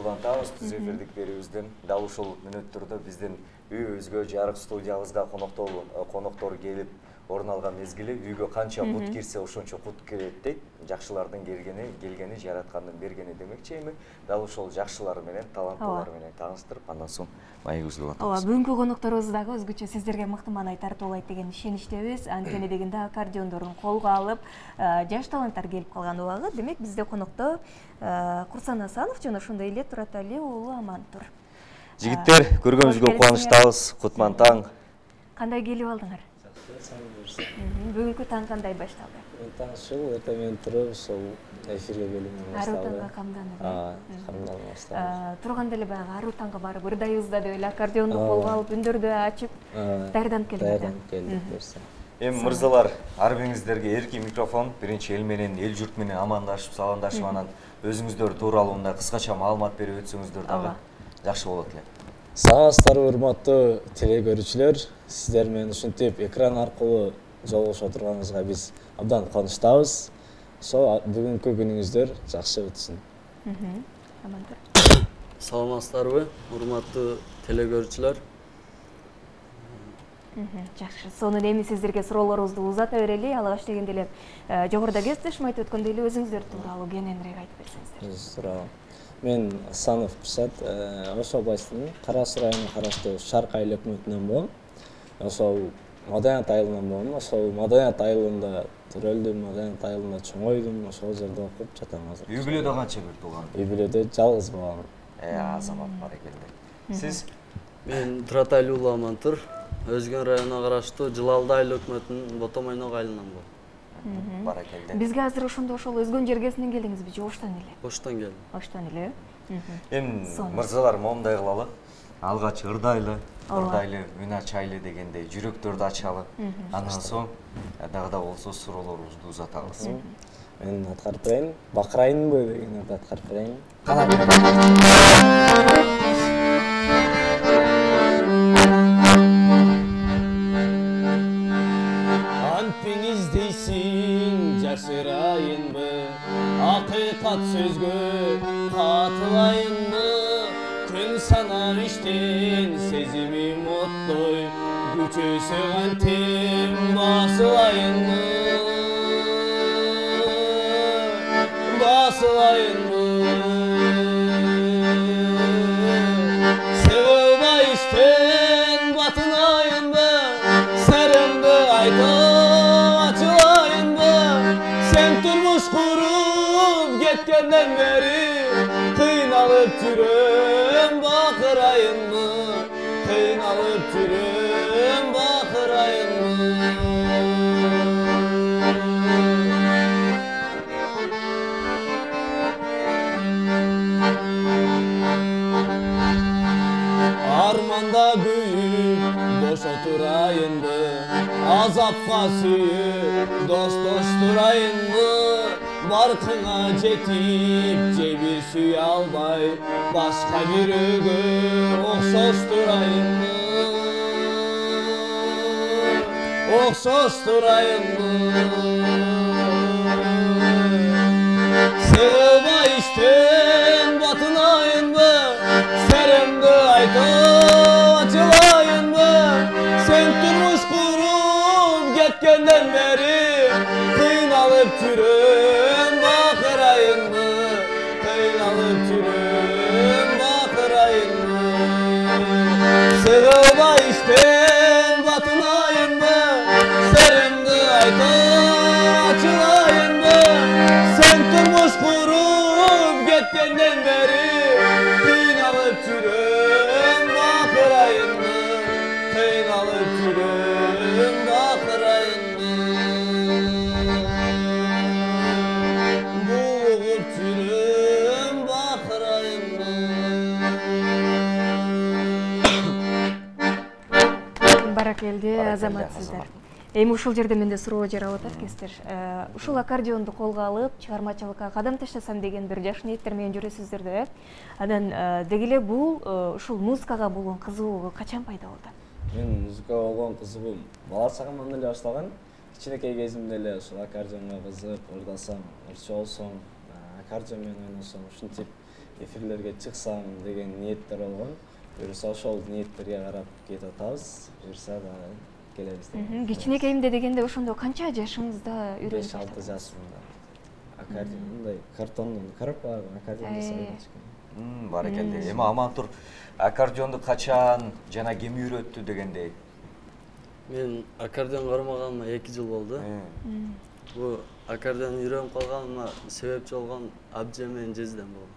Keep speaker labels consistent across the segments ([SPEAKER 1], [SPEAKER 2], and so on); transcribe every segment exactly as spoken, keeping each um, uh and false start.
[SPEAKER 1] улантабыз түз эфирдик берүүбүздөн. Дал ушул мүнөттөрдө биздин үйүбүзгө, жарык студиябызга коноктор коноктор келип орун алган мезгили үйгө канча кут кирсе ошончо кут кирет дейт. Жакшылардын келгени, келгени жараткандын бергени демекчи. Эми дал ошол жакшылар менен, таланттуулар менен тааныштырып, андан соң маегибизди улантабыз.
[SPEAKER 2] Ооба, бүгүнкү конокторубуз дагы өзгөчө сиздерге мыкты маанай тартуулайт деген ишеничтебиз. Анткени дегенде аккордеондорун колго алып, жаш таланттар келип калган убагы. Демек бизде конокто Курсан Асанов жана ошондой эле Туратали уулу Амантур.
[SPEAKER 1] Жигиттер, көргөнүңүзгө кубанычтабыз. Кутман таң.
[SPEAKER 2] Кандай келип алдыңар? Бүгүнкү таң кандай башталды?
[SPEAKER 3] Таң ушул эртең менен туруп, ошол эфирге келүүнү башталды.
[SPEAKER 2] Аруу таңга камданып.
[SPEAKER 3] Аа, камданып башталды.
[SPEAKER 2] Турганда эле баягы аруу таңга барып, ырдайбызда деп эле аккордеонду колго алып, үндөрдү ачып, даярданып келдиңер.
[SPEAKER 3] Даярданып келдик берсе.
[SPEAKER 1] Эми мырзалар, ар бириңиздерге эркин микрофон, биринчи эл менен, эл журт менен амандашып, саламдашып, анан өзүңүздөр тууралуу мындай кыскача маалымат берип өтсөңүздөр дагы жакшы болот эле.
[SPEAKER 3] Саламатсыздарбы, урматтуу телекөрүүчүлөр. Сиздер менен ушинтип экран аркылуу жолугуша турганыбызга биз абдан кубанычтабыз. Ошо бүгүнкү күнүңүздөр жакшы өтсүн.
[SPEAKER 4] Саламатсыздарбы, урматтуу телекөрүүчүлөр.
[SPEAKER 2] Жакшы. Сонун эми сиздерге суроолорубузду узата берели. Алгач дегенде эле жогоруда кесиптешим айтып өткөндөй эле өзүңүздөр тууралуу кененирээк айтып берсеңиздер.
[SPEAKER 3] Өз тууралуу. Мен Асанов Курсат, Ош областынын Кара Суу районуна караштуу Шарк айыл өкмөтүнөн болом. Ошол Маданият айылынан болом. Ошол Маданият айылында төрөлдүм, Маданият айылында чоңойдум, ошол жерде окуп жатам азыр.
[SPEAKER 1] Үй бүлөдө канча бир тууган?
[SPEAKER 3] Үй бүлөдө жалгыз балам.
[SPEAKER 1] Э, азамат барекелде. Сиз?
[SPEAKER 4] Мен Туратали уулу Амантур, Өзгөн районуна караштуу Жылалды айыл өкмөтүнүн Ботомойнок айылынан болом.
[SPEAKER 1] Барекелде.
[SPEAKER 2] Бизге азыр ошондо ошол Өзгөн жергесинен келдиңизби же Оштон эле?
[SPEAKER 4] Оштон келдим.
[SPEAKER 2] Оштон эле.
[SPEAKER 1] Эми мырзалар моундай кылалы. Алгач ырдайлы, ырдайлы, үн ачайлы дегендей жүрөктөрдү ачалы. Андан соң дагы да болсо суроолорубузду узатабыз.
[SPEAKER 3] Мен аткарып берейин. Бакырайынбы дегенди аткарып берейин. Антиң издейсиң жашырайынбы, акыйкат сөзгө катылайынбы, күн санап иштен сезимим оттой, күчөсө кантем басылайынбы, басылайынбы. Себебай иштен батынайынбы, сырымды айтып ачылайынбы, сен турмуш куруп кеткенден бери кыйналып жүрөм, бакырайынбы, кыйналып жүрөм, бакырайынбы. Арманда күйүп бош отурайынбы, азапка сүйүп достоштурайынбы, баркыңа жетип же бир сүйө албай, башка бирөөгө окшоштурайынбы, окшоштурайынбы. Себебай иштен батынайынбы, серимди айтып ачылайынбы, сен турмуш куруп кеткенден бери кыйналып жүрөм, бакырайынбы, кыйналып жүрөм, бакырайынбы. Себебай иштен батынайынбы, серимди айтып ачылайынбы, сен турмуш куруп кеткенден бери кыйналып жүрөм, бакырайынбы, кыйналып жүрөм, бакырайынбы. Булугуп жүрөм, бакырайынбы.
[SPEAKER 2] Баракелде, азаматсыздар. Эми ушул жерде менде суроо жаралып атат кесиптер. Ушул аккордеонду колго алып, чыгармачылыкка кадам таштасам деген бир жаш ниеттер менен жүрөсүздөр да, э? Анан деги эле бул ушул музыкага болгон кызыгуу качан пайда болду?
[SPEAKER 3] Мен музыкага болгон кызыгуум бала чагымдан эле башталган. Кичинекей кезимде эле ушул аккордеонго кызыгып, ырдасам, ырчы болсом, аккордеон менен ойносом, ушинтип эфирлерге чыксам деген ниеттер болгон. Буюрса ошол ниеттерге карап кетип атабыз. Буюрса да келебиз.
[SPEAKER 2] Кичинекейимде дегенде ошондо канча жашыңызда үйрөнүп?
[SPEAKER 3] беш алты жашымда. Аккордеон мындай картондон коробкага аккордеон жасап.
[SPEAKER 1] Баракелде. Эми Амантур аккордеонду качан жана ким үйрөттү дегендей?
[SPEAKER 4] Мен аккордеон кармаганыма эки жыл болду. Бул аккордеон үйрөнүп калганыма себепчи болгон абжем менен жездем болду.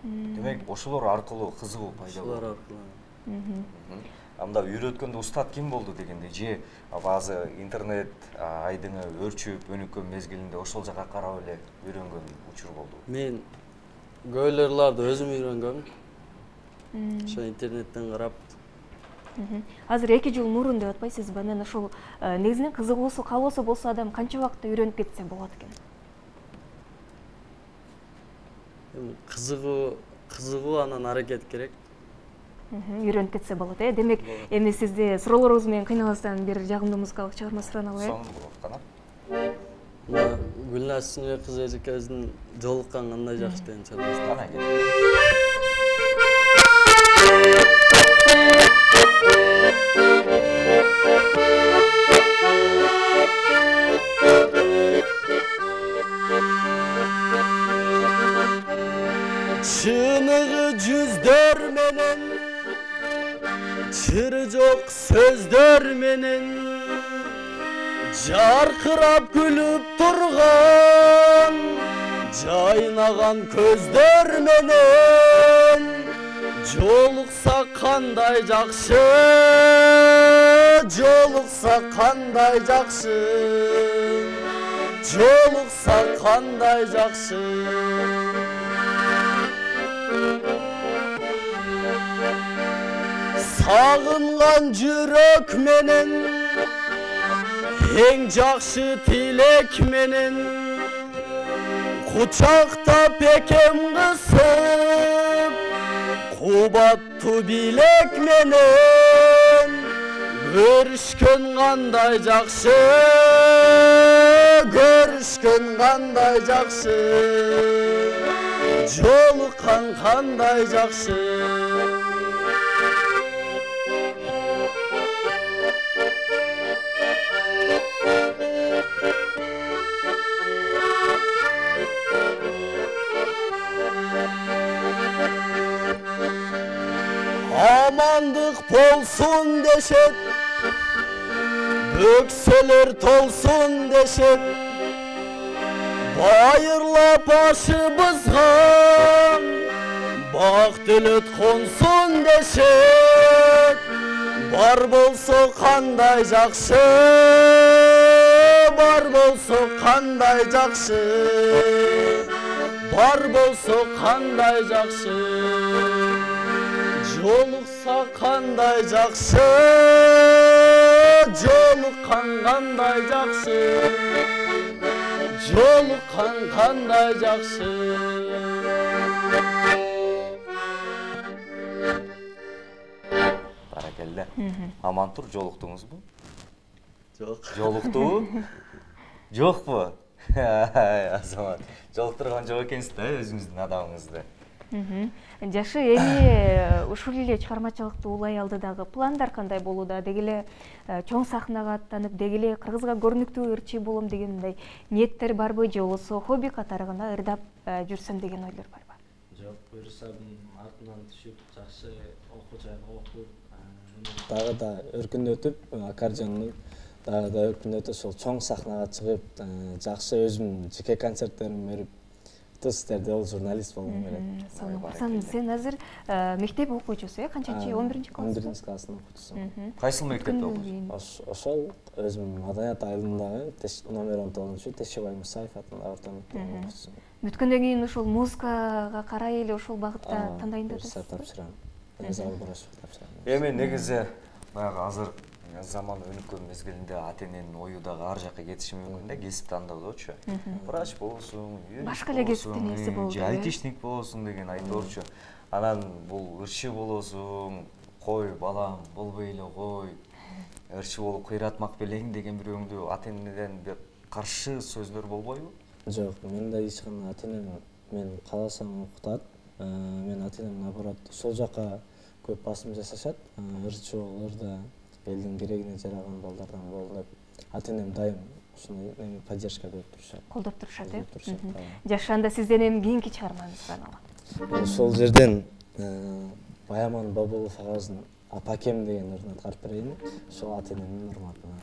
[SPEAKER 1] Демек, ошолор аркылуу кызыгуу пайда болду.
[SPEAKER 4] Ошолор аркылуу.
[SPEAKER 1] Анда үйрөткөндө устат ким болду дегенде, же баазы интернет айдыңы өрчүп өнүккөн мезгилинде ошол жака карап эле үйрөнгөн учур болду?
[SPEAKER 4] Мен көйлөрларды өзүм үйрөнгөм. Ошо интернеттен карап.
[SPEAKER 2] Азыр эки жыл мурун деп атпайсызбы? Анан ошол негизинен кызыгуусу, каалоосу болсо адам канча убакытта үйрөнүп кетсе болот экен?
[SPEAKER 4] Кызыгуу, кызыгуу анан аракет керек.
[SPEAKER 2] Үйрөнүп кетсе болот, э? Демек, эми сизди суроолоруңуз менен кыйнабастан бир жагымдуу музыкалык чыгарма сурана алайын.
[SPEAKER 1] Сонун болот кана.
[SPEAKER 4] Мына Гүлназ Сүйнөй кызы эжекебиздин жолуккан кандай жакшы деген чыгармасы.
[SPEAKER 1] Кана кел.
[SPEAKER 4] Чыныгы жүздөр менен, чыры жок сөздөр менен, жаркырап күлүп турган, жайнаган көздөр менен, жолукса кандай жакшы, жолукса кандай жакшы, жолукса кандай жакшы. Сагынган жүрөк менен, эң жакшы тилек менен, кучактап экем кысып, кубаттуу билек менен, көрүшкөн кандай жакшы, көрүшкөн кандай жакшы, жолуккан кандай жакшы. Амандык болсун дешет, бөксөлөр толсун дешет, байырлап башыбызга бак төлөт консун дешет. Бар болсо кандай жакшы, бар болсо кандай жакшы, бар болсо кандай жакшы, жолукса кандай жакшы, жолуккан кандай жакшы, жолуккан кандай жакшы.
[SPEAKER 1] Баракелде. Амантур, жолуктуңузбу?
[SPEAKER 4] Жок.
[SPEAKER 1] Жолуктубу? Жокпу? Азамат, жолуктурган жок экенсиз да өзүңүздүн адамыңызды.
[SPEAKER 2] Жашы эми ушул эле чыгармачылыкты улай алды дагы пландар кандай болууда? Деги эле чоң сахнага аттанып, деги эле кыргызга көрүнүктүү ырчы болом деген мындай ниеттер барбы, же болбосо хобби катары гана ырдап жүрсөм деген ойлор барбы?
[SPEAKER 3] Жок, буюрса артынан түшүп, жакшы окуу жайга окуп, дагы да өркүндөтүп, аккордеонду дагы да өркүндөтүп, ошол чоң сахнага чыгып, жакшы өзүмдүн жеке концерттеримди берип, сиздерде ол журналист болгум келет.
[SPEAKER 2] Сонун. Сен азыр мектеп окуучусу, э? Канчанчы? он биринчи класс?
[SPEAKER 3] он биринчи класстын окуучусумун.
[SPEAKER 1] Кайсыл мектепте окуйсуз?
[SPEAKER 3] Ошол өзүм Маданият айылындагы номер он тогузунчу Тешебай Мусаев атындагы орто мектептин окуучусумун.
[SPEAKER 2] Бүткөндөн кийин ошол музыкага карай эле ошол багытта тандайын деп атасызбы?
[SPEAKER 3] Тапшырам. Зал бурашып тапшырам.
[SPEAKER 1] Эми негизи баягы азыр заман өнүккөн мезгилинде ата эненин ою дагы ар жакка кетиши мүмкүн да, кесип тандоодочу. Врач болсун,
[SPEAKER 2] башка эле кесиптин нерси болду.
[SPEAKER 1] Же айтишник болсун деген айтоорчу. Анан бул ырчы болосуң, кой балам, болбой эле кой. Ырчы болуп кыйратмак белең деген бирөөңдү ата энеден бир каршы сөздөр болбойбу?
[SPEAKER 3] Жок, менде эч кандай ата энем мен кааласам окутат. Мен ата-энем наоборот сол жака көп басым жасашат. Ырчыболорда элдин керегине жараган балдардан бол деп ата-энем дайым ушундай эми поддержка берип турушат.
[SPEAKER 2] Колдоп турушат, э? Жашында сизден эми кийинки чыгармаңыз кандай?
[SPEAKER 3] Ошол жерден Баяман Бабулов агабыздын Апакем деген ырын аткарып берейин. Ошол ата-энемдин урматына.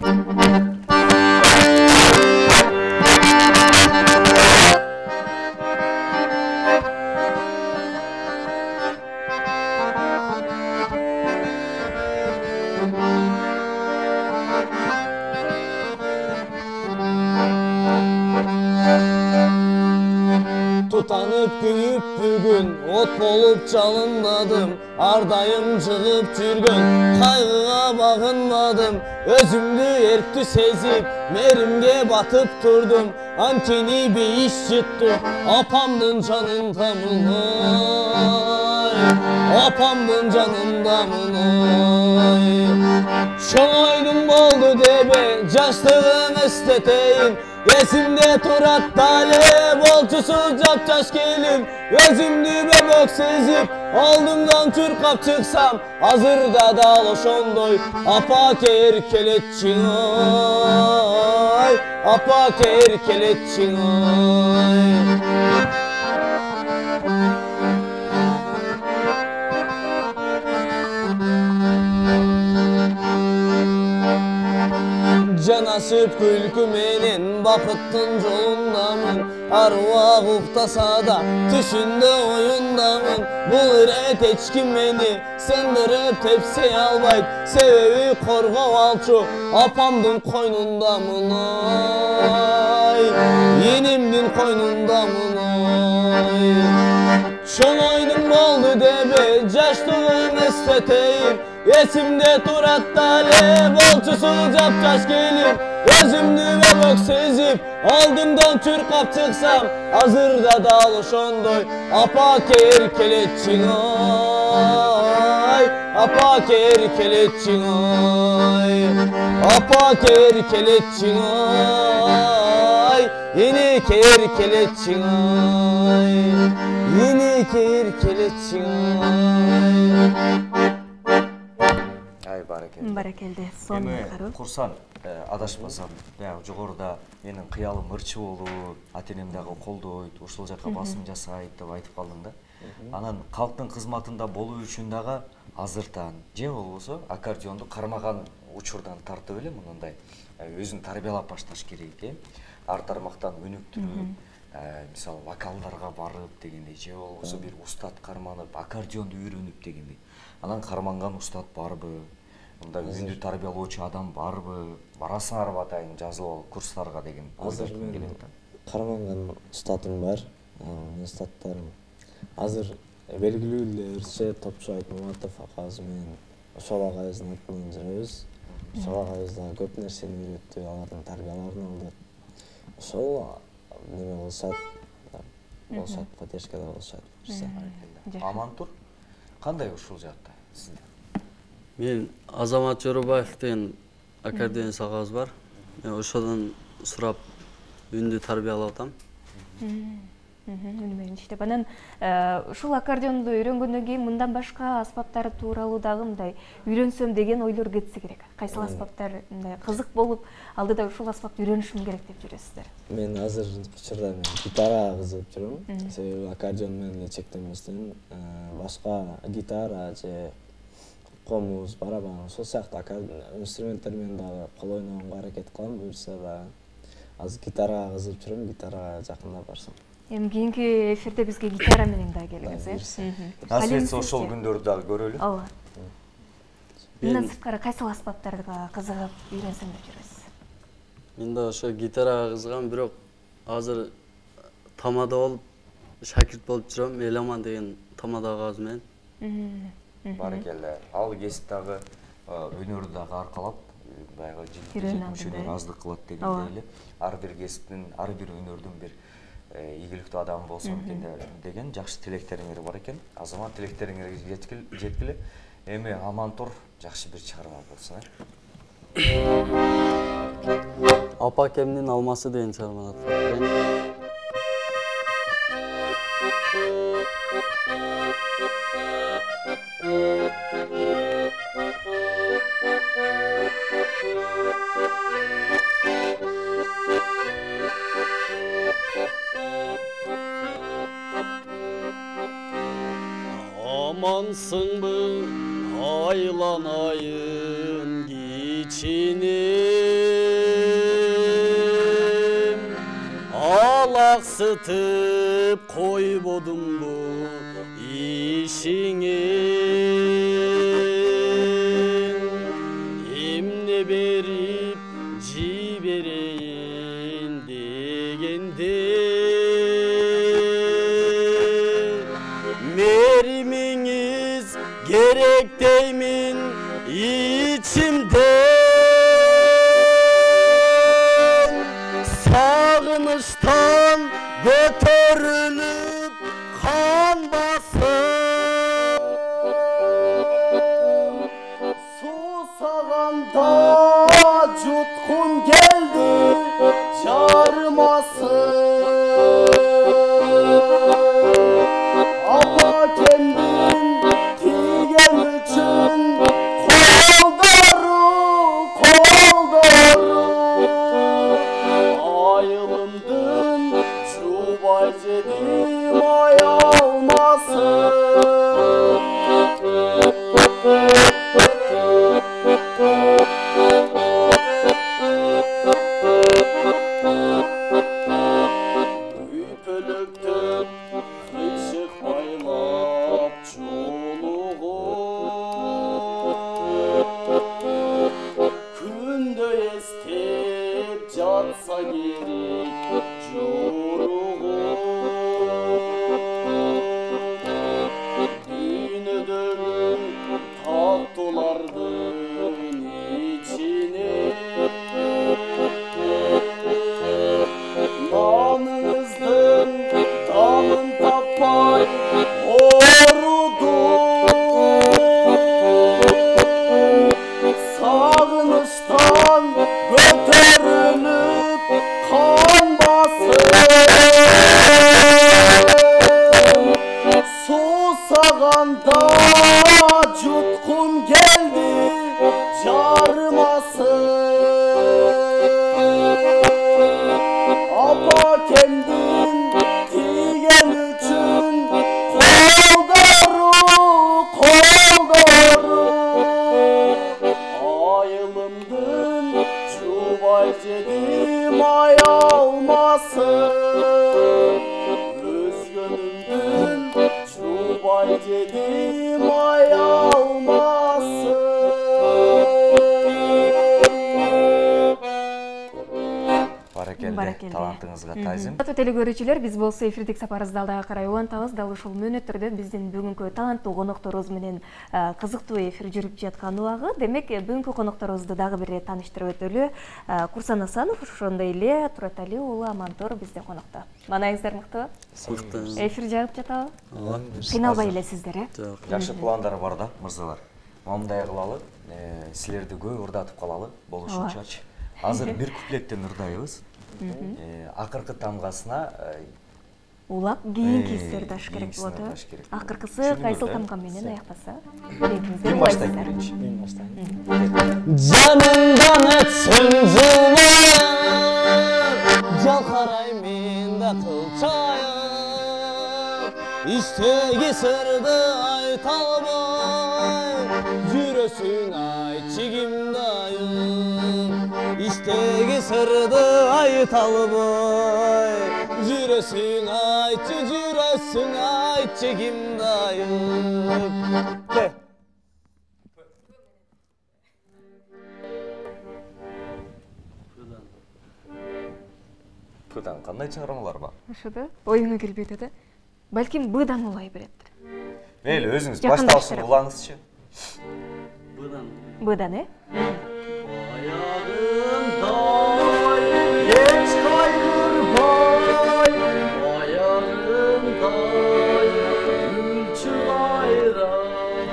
[SPEAKER 3] Tutanıp gülüp bugün ot bolup çalınmadım, ardayım çıkıp жүргөн kaygıga bağınmadım, özümdü erkti sezip merimge batıp durdum, ankeni bir iş çıktı apamdın canındamın oy, apamdın canındamın oy. Şoğaydın boldu debe jaşlığım esteteyim, esimde turat talep olçusu japçaş kelim, özümdü bebek sezip aldımdan çırkap çıksam, hazırda dal oşondoy apa ker keletçin oy, apa ker keletçin oy. Canasıp külkü menen bakıttın jolundamın, arwah uktasa da түшүндө oyundamın. Bul iret eçkim meni sındırıp tepsi albayt, sebebi korgop alçu apamdın koynundamın oy, yenimdin koynundamın oy. Çoğaydın boldu debe jaşlığım esteteyim, esimde turat talep olçusu japçaş kelim, özümdü bebek sezip aldımdan çırkap çıksam, hazırda dal oşondoy apa ker keletçin oy, apa ker keletçin oy, apa ker keletçin oy, yeni ker keletçin oy, yeni ker keletçin oy.
[SPEAKER 2] Баракелде. Сонун кароо.
[SPEAKER 1] Курсан адашпасам, баягы жогоруда менин кыялым ырчы болуу, ата-энем дагы колдойт, ушул жака басым жасайт деп айтып калдың да. Анан калктын кызматында болуу үчүн дагы азыртан же болбосо аккордеонду кармаган учурдан тартып эле мындай өзүн тарбиялап башташ керек, э? Ар тармактан өнүктүрүп, мисалы вокалдарга барып дегендей, же болбосо бир устат карманып, аккордеонду үйрөнүп дегендей. Анан карманган устат барбы? Мында үндү тарбиялоочу адам барбы? Барасыңарбы атайын жазылып алып курстарга деген
[SPEAKER 3] азыр мен карманган устатым бар. Устаттарым азыр белгилүү эле ырчы топчу Айтмаматов акабыз менен ошол акабыздын аты менен жүрөбүз. Ошол акабыз дагы көп нерсени үйрөттү, алардын тарбияларын алдык. Ошол неме болушат, болушат, поддержкада болушат.
[SPEAKER 1] Амантур кандай ушул жакта сизде?
[SPEAKER 4] Мен Азамат Жоробаев деген аккордеонист агабыз бар. Мен ошодон сурап үндү тарбиялап атам.
[SPEAKER 2] Үнү менен иштеп. Анан ушул аккордеонду үйрөнгөндөн кийин мындан башка аспаптар тууралуу дагы мындай үйрөнсөм деген ойлор кетсе керек. Кайсыл аспаптар мындай кызык болуп, алдыда ушул аспапты үйрөнүшүм керек деп жүрөсүздөр?
[SPEAKER 3] Мен азыр учурда мен гитарага кызыгып жүрөм. Себеби аккордеон менен эле чектенбестен башка гитара же комуз, барабан, ошол сыяктуу инструменттер менен дагы кол ойногонго аракет кылам, буюрса дагы. Азыр гитарага кызыгып жүрөм, гитарага жакындап барсам.
[SPEAKER 2] Эми кийинки эфирде бизге гитара менен дагы келиңиз, э?
[SPEAKER 1] Насip этсе ошол күндөрдү дагы көрөлү.
[SPEAKER 2] Ооба. Мындан сырткары кайсыл аспаптарга кызыгып үйрөнсөм деп жүрөсүз?
[SPEAKER 4] Мен да ошо гитарага кызыгам, бирок азыр тамада болуп шакирт болуп жүрөм, Эламан деген тамада агабыз менен.
[SPEAKER 1] Баракелде. Ал кесип дагы өнөрдү дагы аркалап, баягы жинтиктүү аздык кылат дегендей эле. Ар бир кесиптин, ар бир өнөрдүн бир ийгиликтүү адам болсом экен деген жакшы тилектериңер бар экен. Азамат тилектериңерге жеткиле. Эми Амантур жакшы бир чыгарма болсун,
[SPEAKER 4] э? Апакемдин алмасы деген чыгарманы аткарып берейин. Amansыңбы айланайын кичинем, алаксытып койбодумбу ишиңе, эмне берип жиберейин дегенде меримиңиз керек деймин ичимден, сагынычтан көтөрүлүп кан басып, суусаганда жуткум келди жарымасын, апакемдин тийген үчүн колдору колдору, айылымдын жубай жедим аялмасын. Үйпөлөктөн кыйшык байлап чулугуп, күндө эстеп жатса керек жоругуп, дүйнөдөгү таттуулардын ичине наныңыздын тамын таппай оорудум, сагынычтан көтөрүлүп кан басып, суусаганда жуткум келди жарымасын, апакемдин тийген үчүн колдору колдору, айылымдын жубай жедим аялмасын, өзгөнүмдүн жубай жедим аялмасын.
[SPEAKER 1] Баракелде, талантыңызга тазим.
[SPEAKER 2] Урматтуу телекөрүүчүлөр, биз болсо эфирдик сапарыбызды алда карай улантабыз. Дал ушул мүнөттөрдө биздин бүгүнкү таланттуу конокторубуз менен кызыктуу эфир жүрүп жаткан убагы. Демек, бүгүнкү конокторубузду дагы бир ирет тааныштырып өтөлү. Курсан Асанов, ошондой эле Туратали уулу Амантор бизде конокто. Маанайыңыздар мыктыбы?
[SPEAKER 4] Мыкты.
[SPEAKER 2] Эфир жагып жатабы? Кыйналбай элесиздер, э?
[SPEAKER 1] Жакшы пландар бар да, мырзалар. Мындай кылалы, силерди көп ырдатып калалы болушунчачы. Азыр бир куплеттен ырдайбыз. Акыркы тамгасына
[SPEAKER 2] улап кийинки сиздер даш керек болот, э? Акыркысы кайсыл тамга менен аяктаса, билетиңиздер улайсыздар.
[SPEAKER 3] Мен баштайм.
[SPEAKER 5] Жанымдан өтсүн жылдар, жалкарайм да кылчайым, иштеги сырды айта албай, жүрөсүң айтчы кимдайым, иштеги сырды айта албай, жүрөсүң айтчы, жүрөсүң айтчы кимдайым.
[SPEAKER 1] Б-дан кандай чыгармалар бар?
[SPEAKER 2] Ошодо оюңа келбей атат, э? Балким Б-дан улай берет.
[SPEAKER 1] Мейли, өзүңүз башталышын улаңызчы.
[SPEAKER 4] Б-дан.
[SPEAKER 2] Б-дан, э?
[SPEAKER 4] Аягымдай, эч кайгырбай, аягымдай, күлчү кайрам,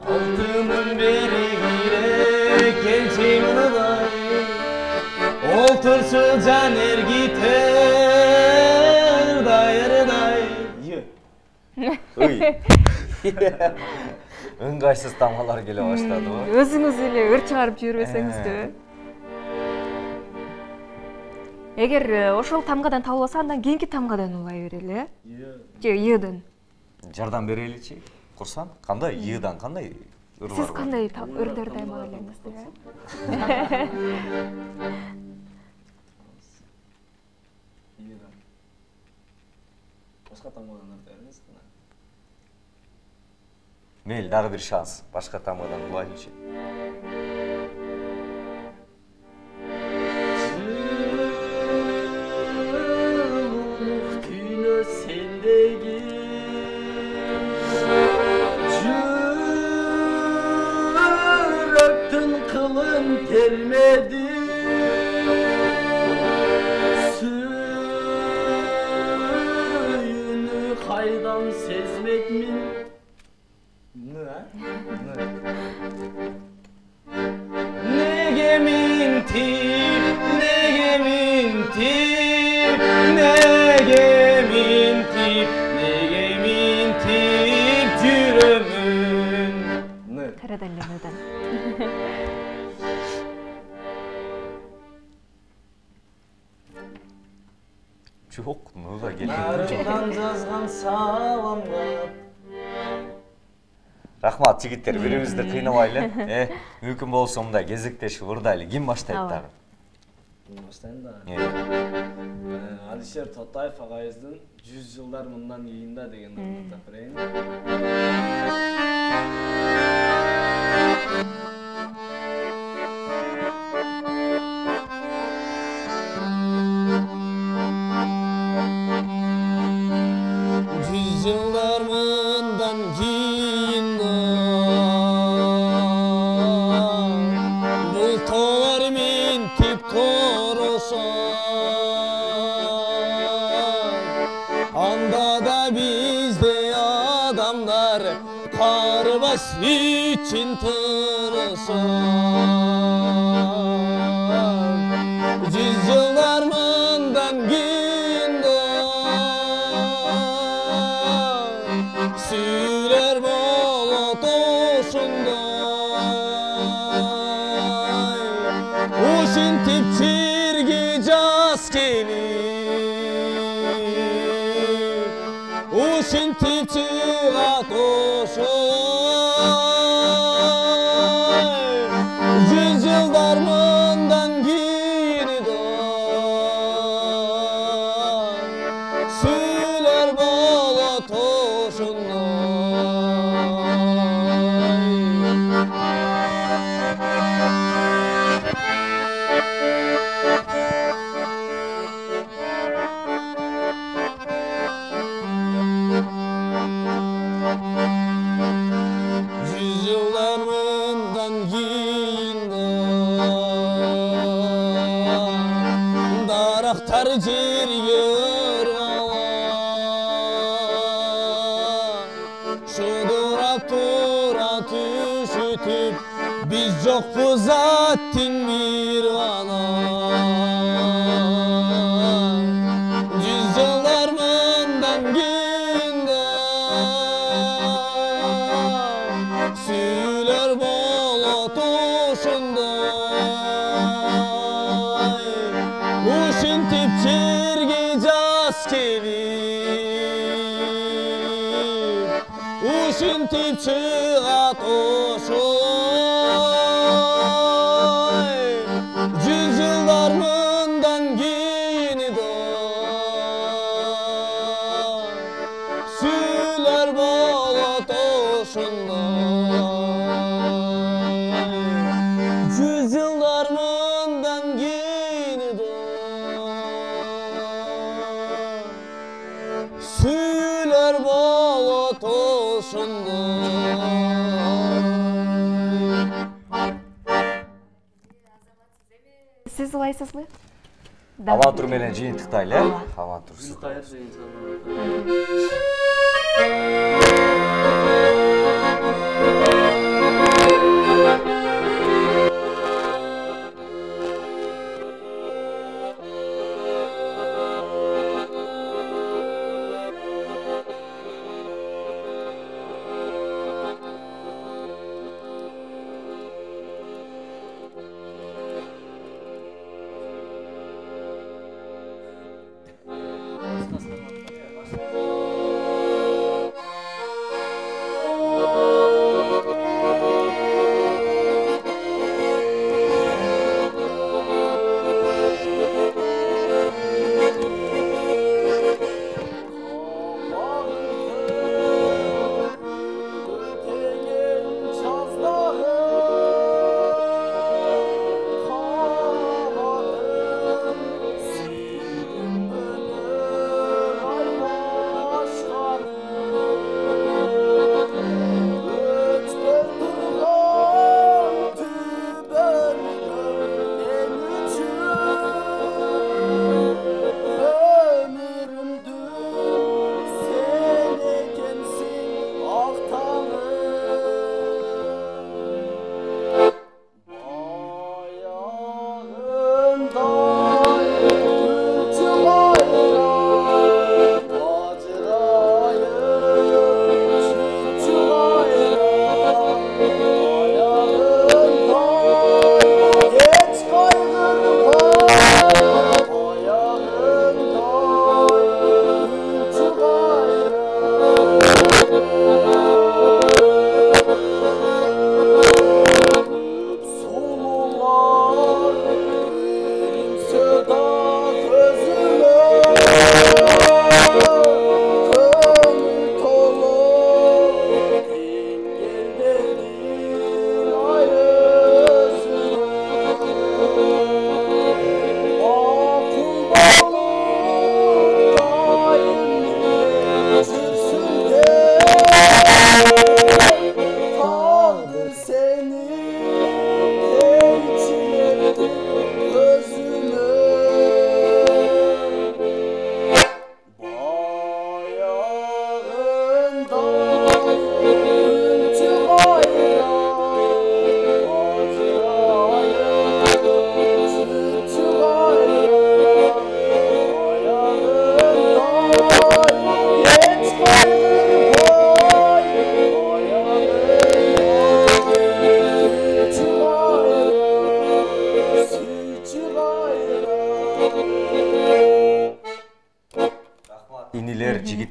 [SPEAKER 4] алтынын берип керек келчең ырдай, олтурчу жан эргитер ырдай ырдай.
[SPEAKER 1] Ой. ыңгайсыз тамгалар келе баштадыбы?
[SPEAKER 2] Өзүңүз эле ыр чыгарып жибербесеңизби? Эгер ошол тамгадан табылбаса, андан кийинки тамгадан улай берели, э? Же ыйыдан.
[SPEAKER 1] Жардам береличи. Курсан, кандай ыйыдан кандай ырлар?
[SPEAKER 2] Сиз кандай ырларды аймак элеңиз, э?
[SPEAKER 3] Башка тамгадан ырды бериңиз.
[SPEAKER 1] Мейли, дагы бир шанс. Башка тамгадан улайлычы.
[SPEAKER 4] Gelmedi suyunu haydan sezmek min
[SPEAKER 5] Nege mintip, nege mintip, nege mintip, nege mintip жүрөмүn.
[SPEAKER 2] Кайрадан эле мыйдан.
[SPEAKER 1] Жок, мыга келген.
[SPEAKER 5] Нарыдан жазган саламга.
[SPEAKER 1] Рахмат жигиттер, бирибизди кыйнабайлы. Э, мүмкүн болсо мындай кезектешип ырдайлы. Ким баштайт дагы?
[SPEAKER 3] Мен баштайын да.
[SPEAKER 5] Алишер Тотаев агайыбыздын жүз жылдар мындан кийин да деген ырды тап берейин. Жүз жылдар мындан кийин бул тоолор минтип корошот. Анда да биздей адамдар карыбаш үчүн тырышат. Жүз жылдар мындан кийин сүйлөр болот ошондой. Ушинтип жерге жаз келип, ушинтип чыгат ошой. Жүз жылдар мындан кийин сүйлөр болот ошондой. Жүз жылдар мындан кийин дарактар жерге ыргалат, шудурап тура түшүтүп, биз жокпуз аттың бир гана. Жүз жылдар мындан кийин сүйлөр болот ошондой. Ушинтип жерге жаз келип, ушинтип чыгат ошой. Жүз жылдар мындан кийин сүйлөр болот ошондой. Жүз жылдар мындан кийин сүйлөр болот ошондой.
[SPEAKER 2] Сиз улайсызбы?
[SPEAKER 1] Амантур менен жыйынтыктайлы, э? Амантур сиз.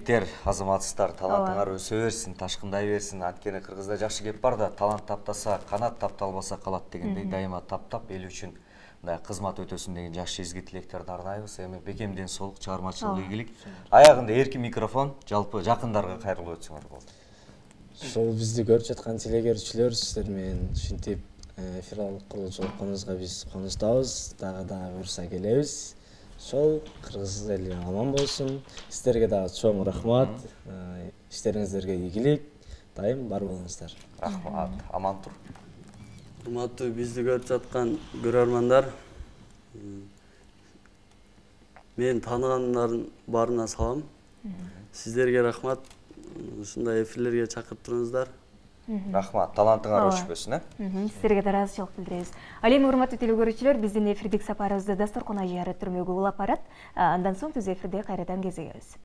[SPEAKER 1] тилектер, азаматсыздар, талантыңар өсө берсин, ташкындай берсин. Анткени Кыргызда жакшы кеп бар да, талант таптаса канат, тапталбаса калат дегендей, дайыма таптап эл үчүн мындай кызмат өтөсүн деген жакшы изги тилектерди арнайбыз. Эми бекем ден соолук, чыгармачылык ийгилик. Аягында эркин микрофон, жалпы жакындарга кайрылып өтсөңөр болот.
[SPEAKER 3] Ошол бизди көрүп жаткан телегөрүүчүлөр сиздер менен ушинтип эфир кылуучу болгонубузга биз кубанычтабыз, дагы дагы буюрса келебиз. Ошол кыргыз эли аман болсун. Сиздерге дагы чоң рахмат. Иштериңиздерге ийгилик. Дайым бар болуңуздар.
[SPEAKER 1] Рахмат. Аман тур.
[SPEAKER 4] Урматтуу бизди көрүп жаткан көрөрмандар, мен тааныгандардын баарына салам. Сиздерге рахмат. Ушундай эфирлерге чакырып туруңуздар.
[SPEAKER 1] Рахмат. Талантыңар өчпөсүн, э?
[SPEAKER 2] Сиздерге да ыраазычылык билдиребиз. Ал эми урматтуу телекөрүүчүлөр, биздин эфирдик сапарыбызды дасторкон ажыяры түрмөгү улап барат. Андан соң түз эфирде кайрадан кезигебиз.